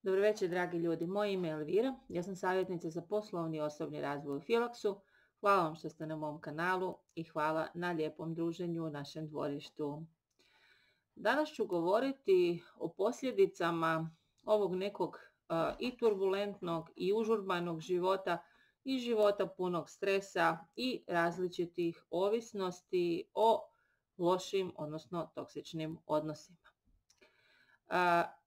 Dobro večer, dragi ljudi. Moje ime je Elvira. Ja sam savjetnica za poslovni i osobni razvoj u Philoxu. Hvala vam što ste na mom kanalu i hvala na lijepom druženju u našem dvorištu. Danas ću govoriti o posljedicama ovog nekog i turbulentnog i užurbanog života i života punog stresa i različitih ovisnosti o lošim, odnosno toksičnim odnosima.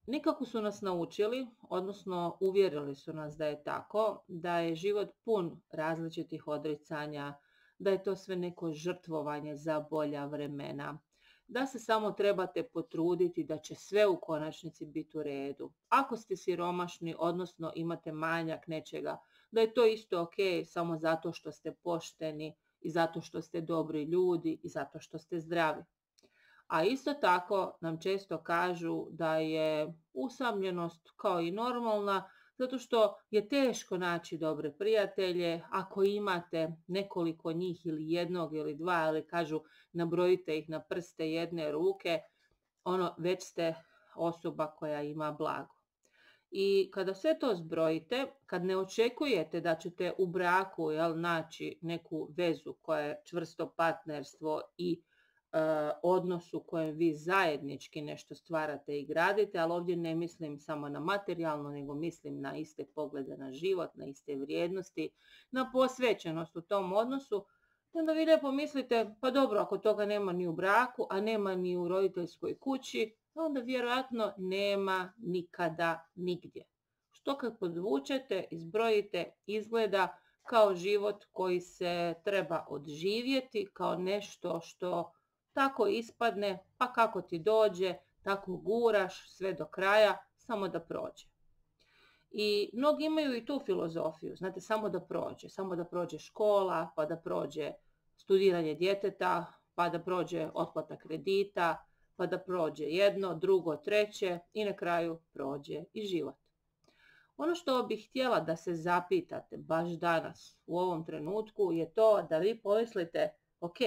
Nikako su nas naučili, odnosno uvjerili su nas da je tako, da je život pun različitih odricanja, da je to sve neko žrtvovanje za bolja vremena, da se samo trebate potruditi da će sve u konačnici biti u redu. Ako ste siromašni, odnosno imate manjak nečega, da je to isto ok samo zato što ste pošteni i zato što ste dobri ljudi i zato što ste zdravi. A isto tako nam često kažu da je usamljenost kao i normalna, zato što je teško naći dobre prijatelje. Ako imate nekoliko njih ili jednog ili dva, ali kažu nabrojite ih na prste jedne ruke, već ste osoba koja ima blago. I kada sve to zbrojite, kad ne očekujete da ćete u braku naći neku vezu koja je čvrsto partnerstvo i odnos u kojem vi zajednički nešto stvarate i gradite, ali ovdje ne mislim samo na materijalno, nego mislim na iste poglede na život, na iste vrijednosti, na posvećenost u tom odnosu. Onda vi lijepo mislite, pa dobro, ako toga nema ni u braku, a nema ni u roditeljskoj kući, onda vjerojatno nema nikada nigdje. Što kad podvučete, izbrojite, izgleda kao život koji se treba odživjeti, kao nešto što tako ispadne, pa kako ti dođe, tako guraš sve do kraja, samo da prođe. I mnogi imaju i tu filozofiju, znate, samo da prođe škola, pa da prođe studiranje djeteta, pa da prođe otplata kredita, pa da prođe jedno, drugo, treće i na kraju prođe i život. Ono što bih htjela da se zapitate baš danas u ovom trenutku je to da vi pomislite, ok,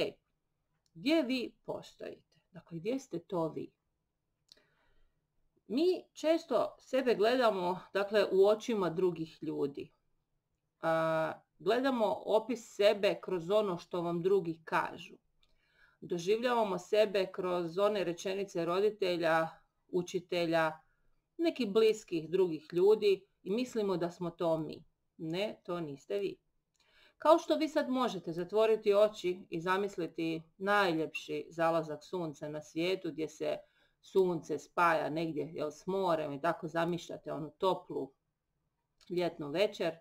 gdje vi postojite? Dakle, gdje ste to vi? Mi često sebe gledamo, u očima drugih ljudi. Gledamo opis sebe kroz ono što vam drugi kažu. Doživljavamo sebe kroz one rečenice roditelja, učitelja, nekih bliskih drugih ljudi i mislimo da smo to mi. Ne, to niste vi. Kao što vi sad možete zatvoriti oči i zamisliti najljepši zalazak sunca na svijetu gdje se sunce spaja negdje s morem i tako zamišljate onu toplu ljetnu večer,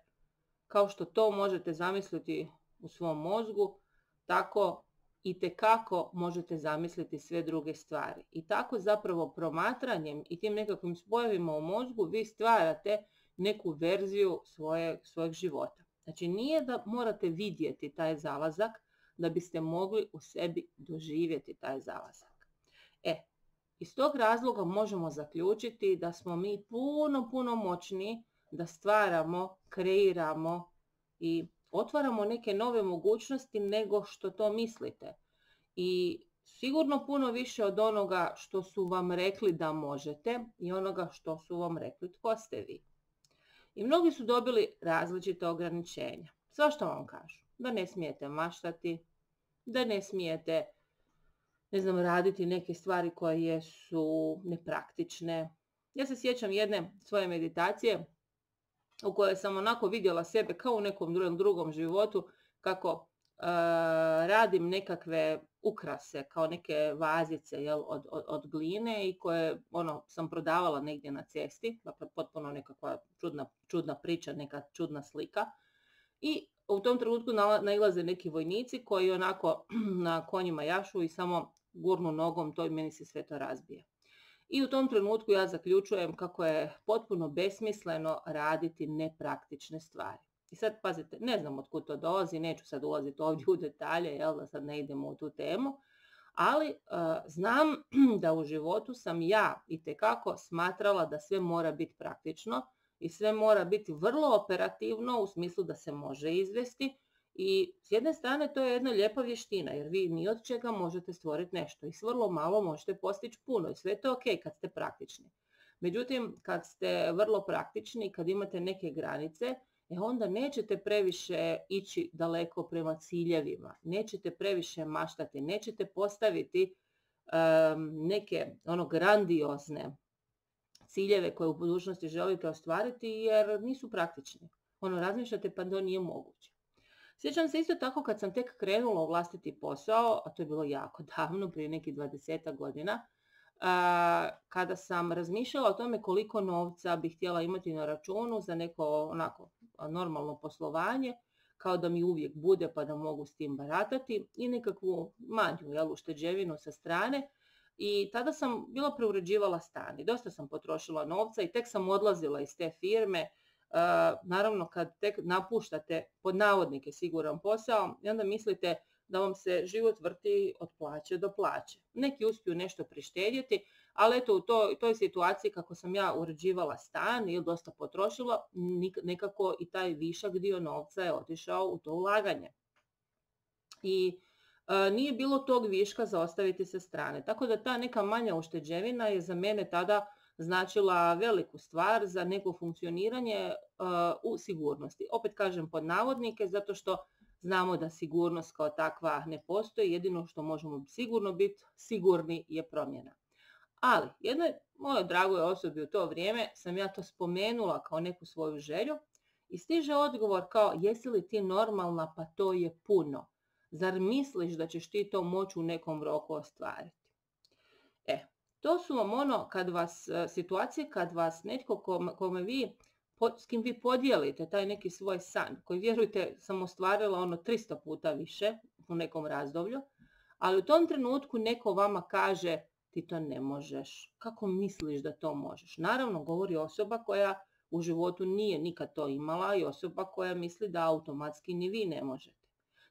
kao što to možete zamisliti u svom mozgu, tako itekako možete zamisliti sve druge stvari. I tako zapravo promatranjem i tim nekakvim spojevima u mozgu vi stvarate neku verziju svojeg života. Znači nije da morate vidjeti taj zalazak da biste mogli u sebi doživjeti taj zalazak. Iz tog razloga možemo zaključiti da smo mi puno moćniji da stvaramo, kreiramo i otvaramo neke nove mogućnosti nego što to mislite. I sigurno puno više od onoga što su vam rekli da možete i onoga što su vam rekli tko ste vi. I mnogi su dobili različite ograničenja. Svašta vam kažu. Da ne smijete maštati, da ne smijete, raditi neke stvari koje su nepraktične. Ja se sjećam jedne svoje meditacije u kojoj sam onako vidjela sebe kao u nekom drugom životu kako radim nekakve ukrase, kao neke vazice od gline i koje sam prodavala negdje na cesti, dakle potpuno nekakva čudna priča, neka čudna slika. I u tom trenutku nailaze neki vojnici koji onako na konjima jašu i samo gurnu nogom to i meni se sve to razbije. I u tom trenutku ja zaključujem kako je potpuno besmisleno raditi nepraktične stvari. I sad pazite, ne znam otkud to dolazi, neću sad ulaziti ovdje u detalje, da sad ne idemo u tu temu, ali znam da u životu sam ja itekako smatrala da sve mora biti praktično i sve mora biti vrlo operativno u smislu da se može izvesti i s jedne strane to je jedna lijepa vještina jer vi ni od čega možete stvoriti nešto i s vrlo malo možete postići puno i sve je to ok kad ste praktični. Međutim, kad ste vrlo praktični, kad imate neke granice, onda nećete previše ići daleko prema ciljevima, nećete previše maštati, nećete postaviti neke grandiozne ciljeve koje u budućnosti želite ostvariti jer nisu praktični. Razmišljate pa to nije moguće. Sjećam se isto tako kad sam tek krenula u vlastiti posao, a to je bilo jako davno, prije nekih 20 godina, kada sam razmišljala o tome koliko novca bih htjela imati na računu za neko normalno poslovanje, kao da mi uvijek bude pa da mogu s tim baratati i nekakvu manju ušteđevinu sa strane. I tada sam bila preuređivala stan i dosta sam potrošila novca i tek sam odlazila iz te firme. Naravno kad tek napuštate pod navodnike siguran posao i onda mislite da vam se život vrti od plaće do plaće. Neki uspiju nešto prištedjeti, ali eto u toj situaciji kako sam ja uređivala stan ili dosta potrošila, nekako i taj višak dio novca je otišao u to ulaganje. I nije bilo tog viška za ostaviti sa strane. Tako da ta neka manja ušteđevina je za mene tada značila veliku stvar za neko funkcioniranje u sigurnosti. Opet kažem pod navodnike zato što znamo da sigurnost kao takva ne postoji, jedino što možemo sigurno biti sigurni je promjena. Ali jednoj mojoj dragoj osobi u to vrijeme sam ja to spomenula kao neku svoju želju i stiže odgovor kao jesi li ti normalna pa to je puno. Zar misliš da ćeš ti to moći u nekom roku ostvariti? To su vam situacije kad vas netko s kim vi podijelite taj neki svoj san, koji vjerujte sam ostvarila 300 puta više u nekom razdoblju, ali u tom trenutku neko vama kaže ti to ne možeš, kako misliš da to možeš? Naravno, govori osoba koja u životu nije nikad to imala i osoba koja misli da automatski ni vi ne možete.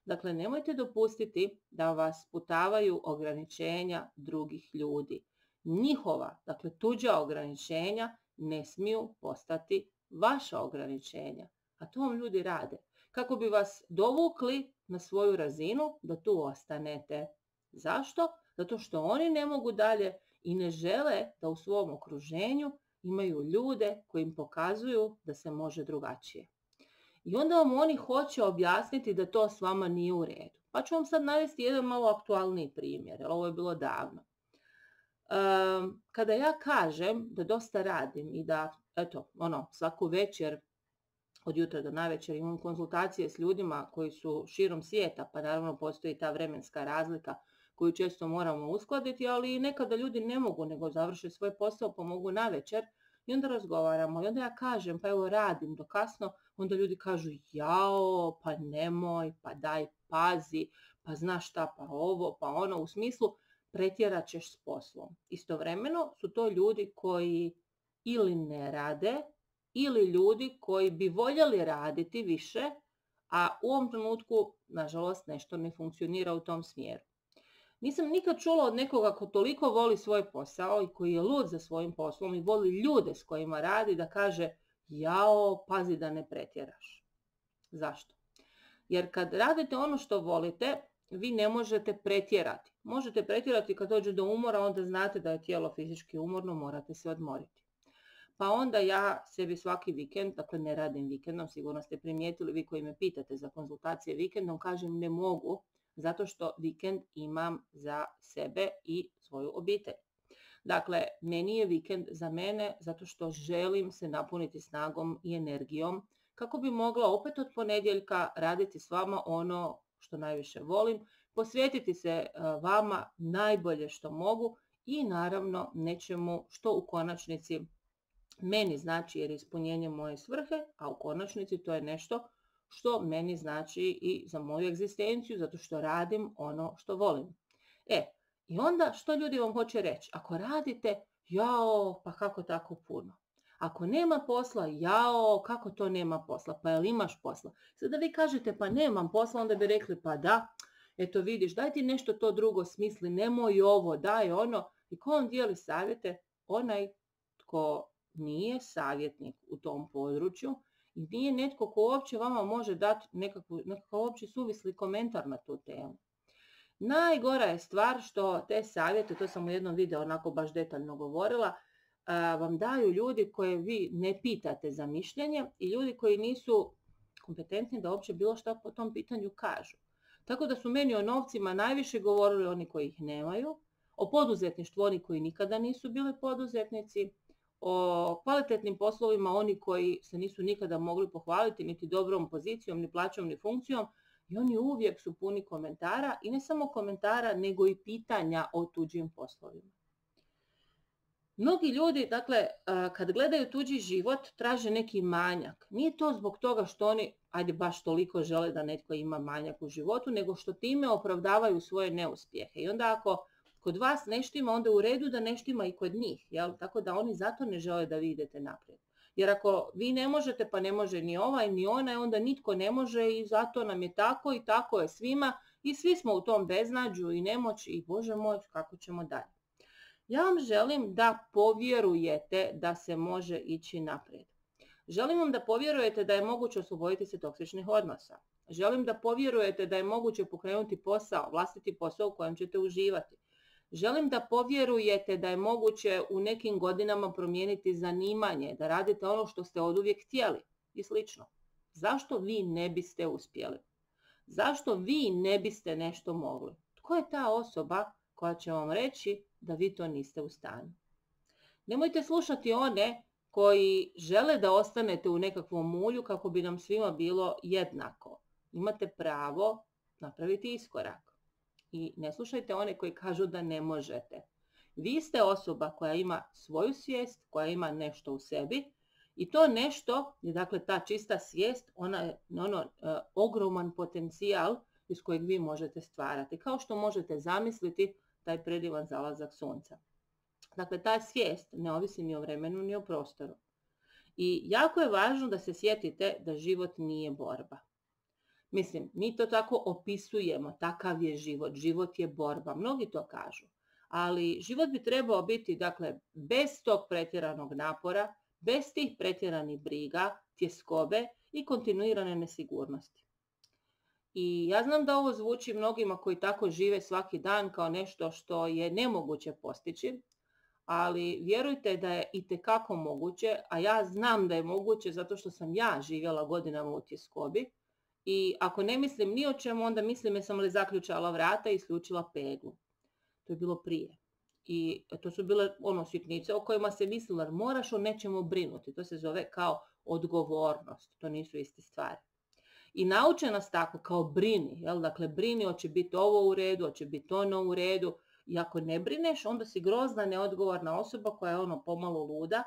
Dakle, nemojte dopustiti da vas sputavaju ograničenja drugih ljudi. Njihova, dakle tuđa ograničenja ne smiju postati vaša ograničenja. A to vam ljudi rade. Kako bi vas dovukli na svoju razinu da tu ostanete. Zašto? Zato što oni ne mogu dalje i ne žele da u svom okruženju imaju ljude koji im pokazuju da se može drugačije. I onda vam oni hoće objasniti da to s vama nije u redu. Pa ću vam sad navesti jedan malo aktualniji primjer, jer ovo je bilo davno. Kada ja kažem da dosta radim i da, svaku večer od jutra do navečer imam konzultacije s ljudima koji su širom svijeta, pa naravno postoji ta vremenska razlika koju često moramo uskladiti, ali nekada ljudi ne mogu nego završe svoj posao pa mogu navečer i onda razgovaramo i onda ja kažem pa evo radim do kasno, onda ljudi kažu jao, pa nemoj, pa daj pazi, pa znaš šta, pa ovo, pa ono, u smislu pretjerat ćeš s poslom. Istovremeno su to ljudi koji ili ne rade, ili ljudi koji bi voljeli raditi više, a u ovom trenutku, nažalost, nešto ne funkcionira u tom smjeru. Nisam nikad čula od nekoga ko toliko voli svoj posao i koji je lud za svojim poslom i voli ljude s kojima radi da kaže jao, pazi da ne pretjeraš. Zašto? Jer kad radite ono što volite, vi ne možete pretjerati. Možete pretjerati kad dođe do umora, onda znate da je tijelo fizički umorno, morate se odmoriti. Pa onda ja sebi svaki vikend, dakle ne radim vikendom, sigurno ste primijetili vi koji me pitate za konzultacije vikendom, kažem ne mogu, zato što vikend imam za sebe i svoju obitelj. Dakle, meni je vikend za mene zato što želim se napuniti snagom i energijom kako bi mogla opet od ponedjeljka raditi s vama ono što najviše volim, posvetiti se vama najbolje što mogu i naravno nečemu što u konačnici meni znači jer je ispunjenje moje svrhe, a u konačnici to je nešto što meni znači i za moju egzistenciju, zato što radim ono što volim. I onda što ljudi vam hoće reći? Ako radite, jao, pa kako tako puno? Ako nema posla, jao, kako to nema posla? Pa jel imaš posla? Sada vi kažete pa nemam posla, onda bi rekli pa da, eto vidiš, daj ti nešto to drugo smisli, nemoj ovo, daj ono. I ko vam dijeli savjete? Onaj tko nije savjetnik u tom području i nije netko ko uopće vama može dati nekakav uopće suvisli komentar na tu temu. Najgora je stvar što te savjete, to sam u jednom videu onako baš detaljno govorila, vam daju ljudi koje vi ne pitate za mišljenje i ljudi koji nisu kompetentni da uopće bilo što po tom pitanju kažu. Tako da su meni o novcima najviše govorili oni koji ih nemaju, o poduzetništvu oni koji nikada nisu bili poduzetnici, o kvalitetnim poslovima oni koji se nisu nikada mogli pohvaliti niti dobrom pozicijom, ni plaćom, ni funkcijom, i oni uvijek su puni komentara, i ne samo komentara, nego i pitanja o tuđim poslovima. Mnogi ljudi, dakle, kad gledaju tuđi život, traže neki manjak. Nije to zbog toga što oni, ajde, baš toliko žele da netko ima manjak u životu, nego što time opravdavaju svoje neuspjehe. I onda ako kod vas nešto ima, onda u redu da nešto ima i kod njih. Jel? Tako da oni zato ne žele da vi idete naprijed. Jer ako vi ne možete, pa ne može ni ovaj ni onaj, onda nitko ne može i zato nam je tako i tako je svima i svi smo u tom beznađu i nemoći i Bože moj, kako ćemo dalje. Ja vam želim da povjerujete da se može ići naprijed. Želim vam da povjerujete da je moguće osloboditi se toksičnih odnosa. Želim da povjerujete da je moguće pokrenuti posao, vlastiti posao u kojem ćete uživati. Želim da povjerujete da je moguće u nekim godinama promijeniti zanimanje, da radite ono što ste oduvijek htjeli i slično. Zašto vi ne biste uspjeli? Zašto vi ne biste nešto mogli? Tko je ta osoba koja će vam reći da vi to niste u stanju? Nemojte slušati one koji žele da ostanete u nekakvom mulju kako bi nam svima bilo jednako. Imate pravo napraviti iskorak. I ne slušajte one koji kažu da ne možete. Vi ste osoba koja ima svoju svijest, koja ima nešto u sebi i to nešto je, dakle, ta čista svijest, ona je ogroman potencijal iz kojeg vi možete stvarati. Kao što možete zamisliti taj predivan zalazak sunca. Dakle, ta svijest ne ovisi ni o vremenu ni o prostoru. I jako je važno da se sjetite da život nije borba. Mislim, mi to tako opisujemo, takav je život, život je borba, mnogi to kažu. Ali život bi trebao biti, dakle, bez tog pretjeranog napora, bez tih pretjeranih briga, tjeskobe i kontinuirane nesigurnosti. I ja znam da ovo zvuči mnogima koji tako žive svaki dan kao nešto što je nemoguće postići, ali vjerujte da je itekako moguće, a ja znam da je moguće zato što sam ja živjela godinama u tjeskobi. I ako ne mislim ni o čemu, onda mislim jesam li zaključala vrata i isključila peglu. To je bilo prije. I to su bile sitnice o kojima se mislilo, jer moraš o nečemu brinuti. To se zove kao odgovornost. To nisu iste stvari. I nauče nas tako, kao brini. Jel? Dakle, brini, hoće biti ovo u redu, hoće biti ono u redu. I ako ne brineš, onda si grozna, neodgovorna osoba koja je pomalo luda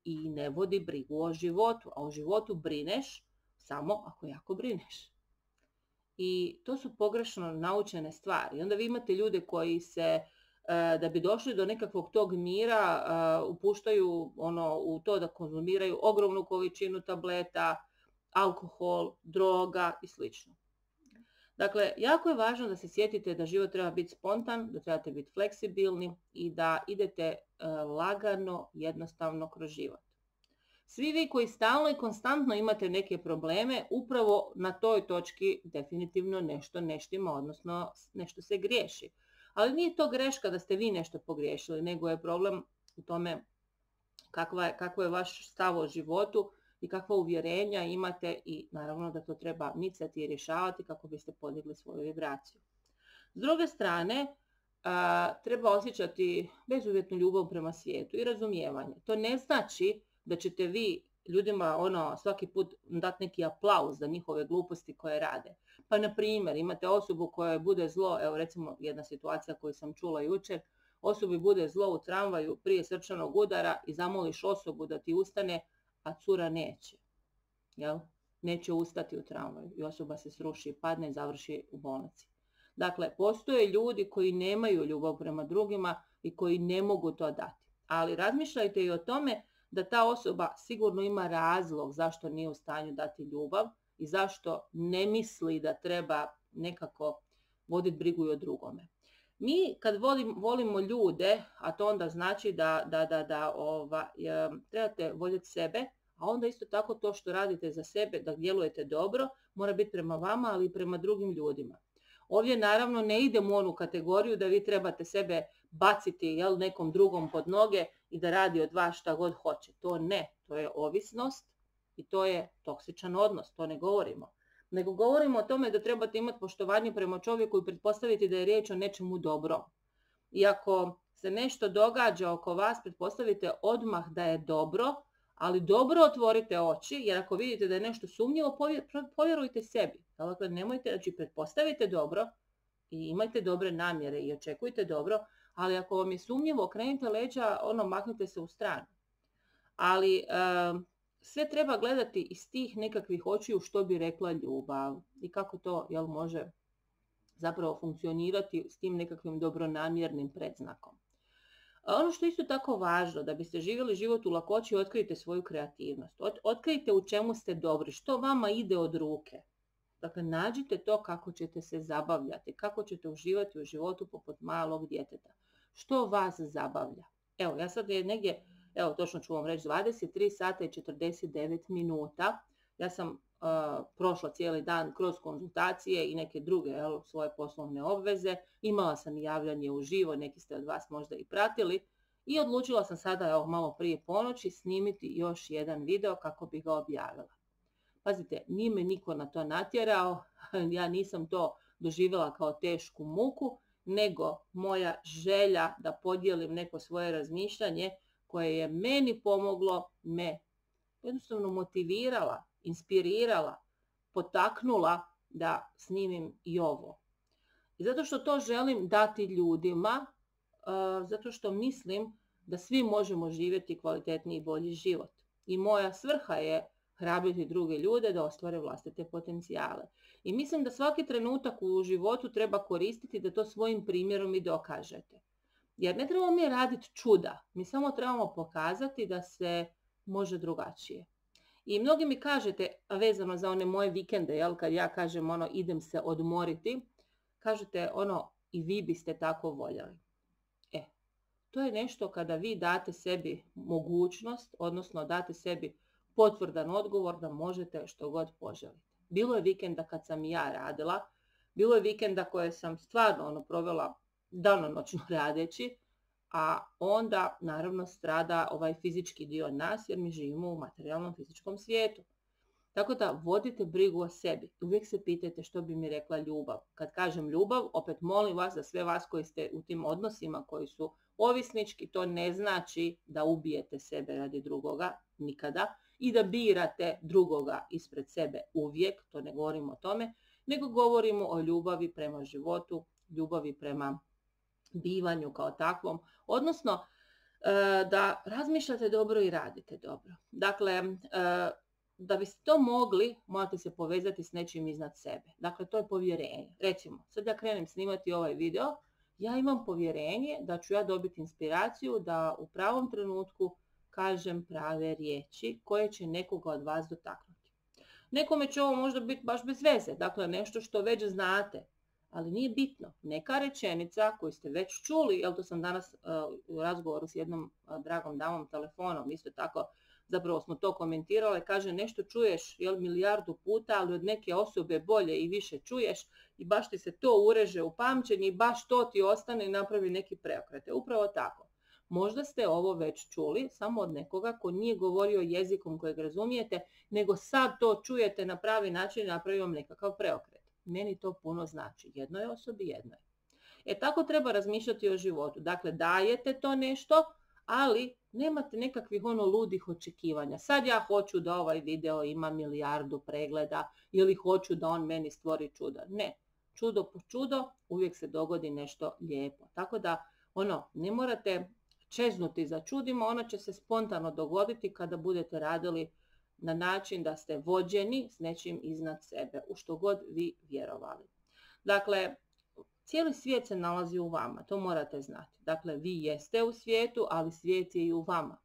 i ne vodi brigu o životu. A o životu brineš samo ako jako brineš. I to su pogrešno naučene stvari. I onda vi imate ljude koji se, da bi došli do nekakvog tog mira, upuštaju u to da konzumiraju ogromnu količinu tableta, alkohol, droga i sl. Dakle, jako je važno da se sjetite da život treba biti spontan, da trebate biti fleksibilni i da idete lagano, jednostavno kroz život. Svi vi koji stalno i konstantno imate neke probleme, upravo na toj točki definitivno nešto ne štima, odnosno nešto se griješi. Ali nije to greška da ste vi nešto pogriješili, nego je problem u tome kakvo je vaš stav o životu i kakva uvjerenja imate i naravno da to treba micati i rješavati kako biste podigli svoju vibraciju. S druge strane, treba osjećati bezuvjetnu ljubav prema svijetu i razumijevanje. To ne znači da ćete vi ljudima svaki put dati neki aplauz za njihove gluposti koje rade. Pa na primjer, imate osobu kojoj bude zlo, evo recimo jedna situacija koju sam čula jučer, osobi bude zlo u tramvaju prije srčanog udara i zamoliš osobu da ti ustane, a cura neće. Jel? Neće ustati u tramvaju i osoba se sruši, padne i završi u bolnici. Dakle, postoje ljudi koji nemaju ljubav prema drugima i koji ne mogu to dati. Ali razmišljajte i o tome da ta osoba sigurno ima razlog zašto nije u stanju dati ljubav i zašto ne misli da treba nekako voditi brigu i o drugome. Mi kad volimo ljude, a to onda znači da trebate voljeti sebe, a onda isto tako to što radite za sebe, da djelujete dobro, mora biti prema vama, ali i prema drugim ljudima. Ovdje naravno ne idemo u onu kategoriju da vi trebate sebe baciti nekom drugom pod noge i da radi od vas šta god hoće. To ne, to je ovisnost i to je toksičan odnos, to ne govorimo. Nego govorimo o tome da trebate imati poštovanje prema čovjeku i pretpostaviti da je riječ o nečemu dobrom. I ako se nešto događa oko vas, pretpostavite odmah da je dobro, ali dobro otvorite oči, jer ako vidite da je nešto sumnjivo, povjerujte sebi. Dakle, nemojte, znači pretpostavite dobro i imajte dobre namjere i očekujte dobro, ali ako vam je sumnjivo, okrenite leđa, maknite se u stranu. Ali sve treba gledati iz tih nekakvih očiju što bi rekla ljubav i kako to može zapravo funkcionirati s tim nekakvim dobronamjernim predznakom. Ono što je isto tako važno, da biste živjeli život u lakoći, otkrijte svoju kreativnost. Otkrijte u čemu ste dobri, što vama ide od ruke. Dakle, nađite to kako ćete se zabavljati, kako ćete uživati u životu poput malog djeteta. Što vas zabavlja? Evo, ja sad je negdje, točno ću vam reći, 23 sata i 49 minuta. Ja sam prošla cijeli dan kroz konzultacije i neke druge svoje poslovne obveze. Imala sam i javljanje uživo, neki ste od vas možda i pratili. I odlučila sam sada, malo prije ponoći, snimiti još jedan video kako bi ga objavila. Pazite, nije me niko na to natjerao, ja nisam to doživjela kao tešku muku, nego moja želja da podijelim neko svoje razmišljanje koje je meni pomoglo, me jednostavno motivirala, inspirirala, potaknula da snimim i ovo. I zato što to želim dati ljudima, zato što mislim da svi možemo živjeti kvalitetniji i bolji život. I moja svrha je hrabriti druge ljude da ostvare vlastite potencijale. I mislim da svaki trenutak u životu treba koristiti da to svojim primjerom i dokažete. Jer ne trebamo mi raditi čuda, mi samo trebamo pokazati da se može drugačije. I mnogi mi kažete, vezano za one moje vikende, kad ja kažem idem se odmoriti, kažete i vi biste tako voljeli. To je nešto kada vi date sebi mogućnost, odnosno date sebi potvrdan odgovor da možete što god poželite. Bilo je vikenda kad sam i ja radila, bilo je vikenda koje sam stvarno provela danonoćno radeći, a onda naravno strada ovaj fizički dio nas jer mi živimo u materijalnom fizičkom svijetu. Tako da vodite brigu o sebi. Uvijek se pitajte što bi mi rekla ljubav. Kad kažem ljubav, opet molim vas, za sve vas koji ste u tim odnosima koji su ovisnički, to ne znači da ubijete sebe radi drugoga, nikada, i da birate drugoga ispred sebe uvijek, to ne govorimo o tome, nego govorimo o ljubavi prema životu, ljubavi prema bivanju kao takvom, odnosno da razmišljate dobro i radite dobro. Dakle, da biste to mogli, morate se povezati s nečim iznad sebe. Dakle, to je povjerenje. Recimo, sad ja krenem snimati ovaj video, ja imam povjerenje da ću ja dobiti inspiraciju da u pravom trenutku kažem prave riječi koje će nekoga od vas dotaknuti. Nekome će ovo možda biti baš bez veze, dakle nešto što već znate, ali nije bitno. Neka rečenica koju ste već čuli, to sam danas u razgovoru s jednom dragom damom telefonom, isto tako zapravo smo to komentirale, kaže nešto čuješ milijardu puta, ali od neke osobe bolje i više čuješ i baš ti se to ureže u pamćenje i baš to ti ostane i napravi neki preokret. Upravo tako. Možda ste ovo već čuli samo od nekoga ko nije govorio jezikom kojeg razumijete, nego sad to čujete na pravi način i napravi vam nekakav preokret. Meni to puno znači. Jednoj osobi, jednoj. Tako treba razmišljati o životu. Dakle, dajete to nešto, ali nemate nekakvih ludih očekivanja. Sad ja hoću da ovaj video ima milijardu pregleda ili hoću da on meni stvori čuda. Ne. Čudo po čudo uvijek se dogodi nešto lijepo. Tako da, ne morate čeznuti za čudima, ono će se spontano dogoditi kada budete radili na način da ste vođeni s nečim iznad sebe, u što god vi vjerovali. Dakle, cijeli svijet se nalazi u vama, to morate znati. Dakle, vi jeste u svijetu, ali svijet je i u vama.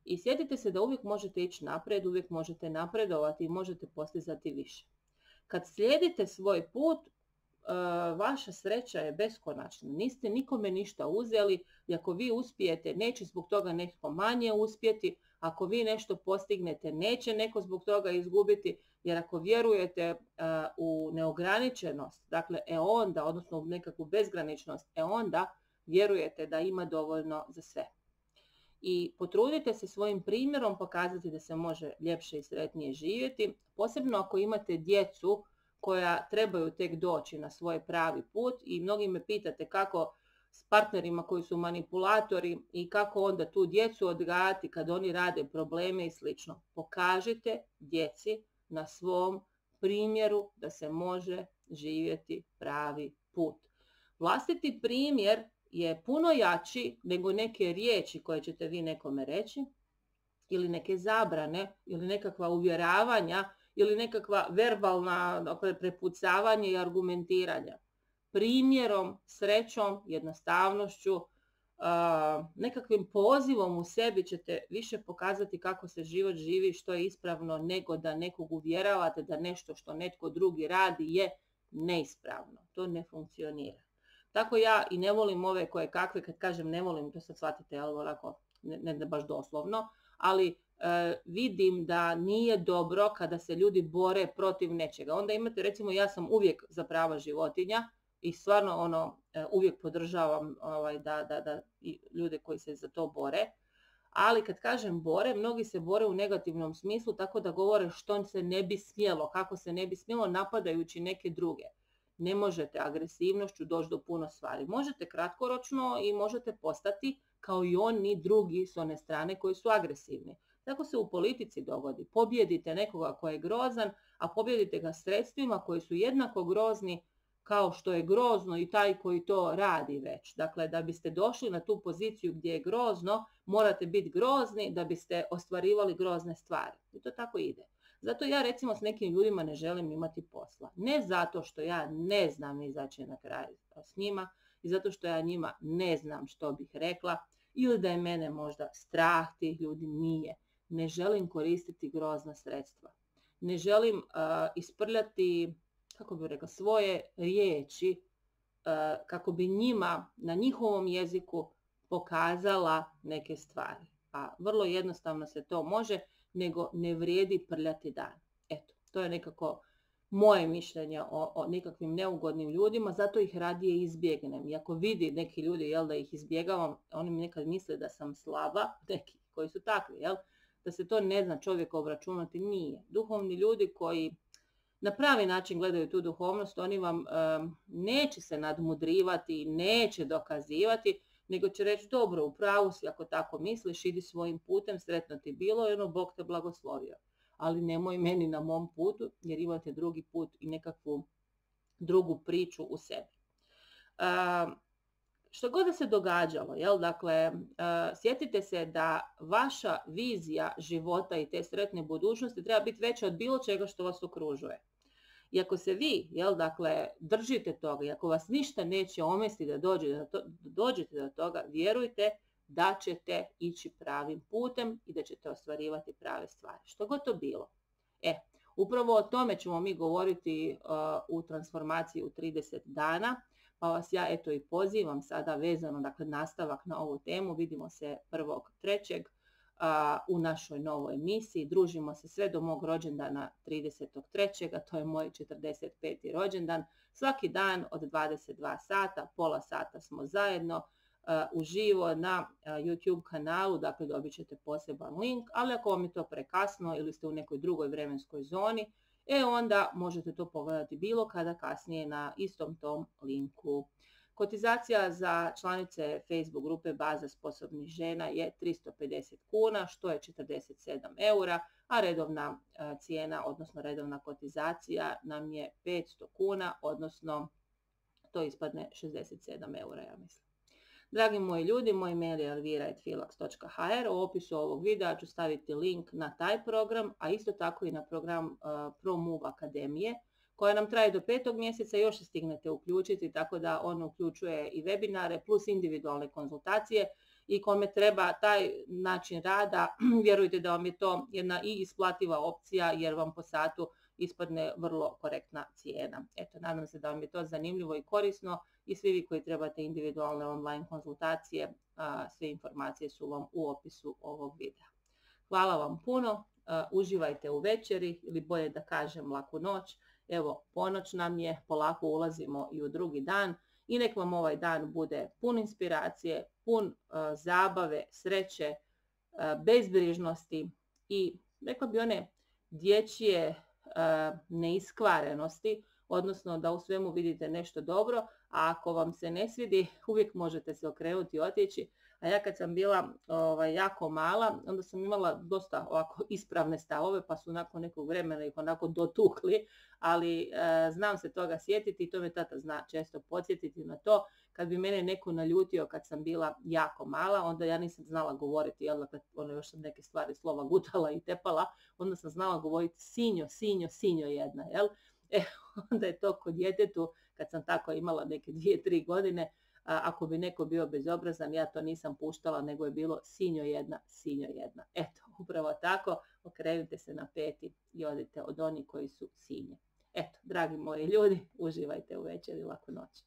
I sjetite se da uvijek možete ići naprijed, uvijek možete napredovati i možete postizati više. Kad slijedite svoj put, vaša sreća je beskonačna. Niste nikome ništa uzeli i ako vi uspijete, neće zbog toga netko manje uspjeti. Ako vi nešto postignete, neće neko zbog toga izgubiti. Jer ako vjerujete u neograničenost, dakle onda, odnosno u nekakvu bezgraničnost, onda vjerujete da ima dovoljno za sve. I potrudite se svojim primjerom pokazati da se može ljepše i sretnije živjeti, posebno ako imate djecu koja trebaju tek doći na svoj pravi put i mnogi me pitate kako s partnerima koji su manipulatori i kako onda tu djecu odgajati kad oni rade probleme i slično. Pokažite djeci na svom primjeru da se može živjeti pravi put. Vlastiti primjer je puno jači nego neke riječi koje ćete vi nekome reći ili neke zabrane ili nekakva uvjeravanja ili nekakva verbalna prepucavanje i argumentiranja. Primjerom, srećom, jednostavnošću, nekakvim pozivom u sebi ćete više pokazati kako se život živi, što je ispravno, nego da nekog uvjeravate da nešto što netko drugi radi je neispravno. To ne funkcionira. Tako ja i ne volim ove koje kakve, kad kažem ne volim, to sad shvatite, ali onako, ne baš doslovno, ali vidim da nije dobro kada se ljudi bore protiv nečega. Onda imate, recimo, ja sam uvijek za prava životinja i stvarno uvijek podržavam da ljude koji se za to bore. Ali kad kažem bore, mnogi se bore u negativnom smislu tako da govore što se ne bi smjelo, kako se ne bi smjelo, napadajući neke druge. Ne možete agresivnošću doći do puno stvari. Možete kratkoročno i možete postati kao i oni drugi s one strane koji su agresivni. Tako se u politici dogodi. Pobjedite nekoga koji je grozan, a pobjedite ga sredstvima koji su jednako grozni kao što je grozno i taj koji to radi već. Dakle, da biste došli na tu poziciju gdje je grozno, morate biti grozni da biste ostvarivali grozne stvari. I to tako ide. Zato ja recimo s nekim ljudima ne želim imati posla. Ne zato što ja ne znam izaći na kraj s njima i zato što ja njima ne znam što bih rekla ili da je mene možda strah tih ljudi, nije. Ne želim koristiti grozna sredstva. Ne želim isprljati, kako bih rekla, svoje riječi kako bi njima na njihovom jeziku pokazala neke stvari. A vrlo jednostavno se to može, nego ne vrijedi prljati dan. Eto, to je nekako moje mišljenje o nekakvim neugodnim ljudima, zato ih radije izbjegnem. I ako vidi neki ljudi da ih izbjegavam, oni mi nekad misle da sam slaba, neki koji su takvi, da se to ne zna čovjek obračunati, nije. Duhovni ljudi koji na pravi način gledaju tu duhovnost, oni vam neće se nadmudrivati, neće dokazivati, nego će reći dobro, u pravu si ako tako misliš, idi svojim putem, sretno ti bilo i Bog te blagoslovio. Ali nemoj meni na mom putu jer imate drugi put i nekakvu drugu priču u sebi. Što god da se događalo, dakle, sjetite se da vaša vizija života i te sretne budućnosti treba biti veća od bilo čega što vas okružuje. I ako se vi, dakle, držite toga i ako vas ništa neće omesti da dođete do toga, vjerujte da ćete ići pravim putem i da ćete ostvarivati prave stvari. Što god to bilo. Upravo o tome ćemo mi govoriti u transformaciji u 30 dana. Pa vas ja i pozivam sada vezano, dakle, nastavak na ovu temu. Vidimo se 1.3. U našoj novoj emisiji. Družimo se sve do mog rođendana 30.3. To je moj 45. rođendan. Svaki dan od 22 sata, pola sata smo zajedno uživo na YouTube kanalu, dakle dobit ćete poseban link, ali ako vam je to prekasno ili ste u nekoj drugoj vremenskoj zoni, onda možete to pogledati bilo kada kasnije na istom tom linku. Kotizacija za članice Facebook grupe Baza sposobnih žena je 350 kuna, što je 47 eura, a redovna cijena, odnosno redovna kotizacija nam je 500 kuna, odnosno to ispadne 67 eura, ja mislim. Dragi moji ljudi, moj mail je elvira@filax.hr. U opisu ovog videa ću staviti link na taj program, a isto tako i na program ProMove Akademije, koja nam traje do 5. mjeseca, još se stignete uključiti, tako da on uključuje i webinare plus individualne konzultacije i kome treba taj način rada, vjerujte da vam je to jedna i isplativa opcija jer vam po satu ispadne vrlo korektna cijena. Eto, nadam se da vam je to zanimljivo i korisno i svi vi koji trebate individualne online konzultacije, sve informacije su vam u opisu ovog videa. Hvala vam puno, uživajte u večeri ili bolje da kažem laku noć. Evo, ponoć nam je, polako ulazimo i u drugi dan i nek vam ovaj dan bude pun inspiracije, pun zabave, sreće, bezbrižnosti i rekla bi one dječje neiskvarenosti, odnosno da u svemu vidite nešto dobro, a ako vam se ne svidi, uvijek možete se okrenuti i otići. A ja kad sam bila jako mala, onda sam imala dosta ovako ispravne stavove, pa su nakon nekog vremena ih onako dotukli, ali znam se toga sjetiti i to me tata zna često podsjetiti na to. Kad bi mene neko naljutio kad sam bila jako mala, onda ja nisam znala govoriti, jel, još sam neke stvari slova gutala i tepala, onda sam znala govoriti sinjo, sinjo, sinjo jedna, jel? Onda je to kod djetetu, kad sam tako imala neke 2-3 godine, ako bi neko bio bezobrazan, ja to nisam puštala, nego je bilo sinjo jedna, sinjo jedna. Eto, upravo tako, okrenite se na peti i odite od onih koji su sinje. Eto, dragi moji ljudi, uživajte u večeri, laku noć.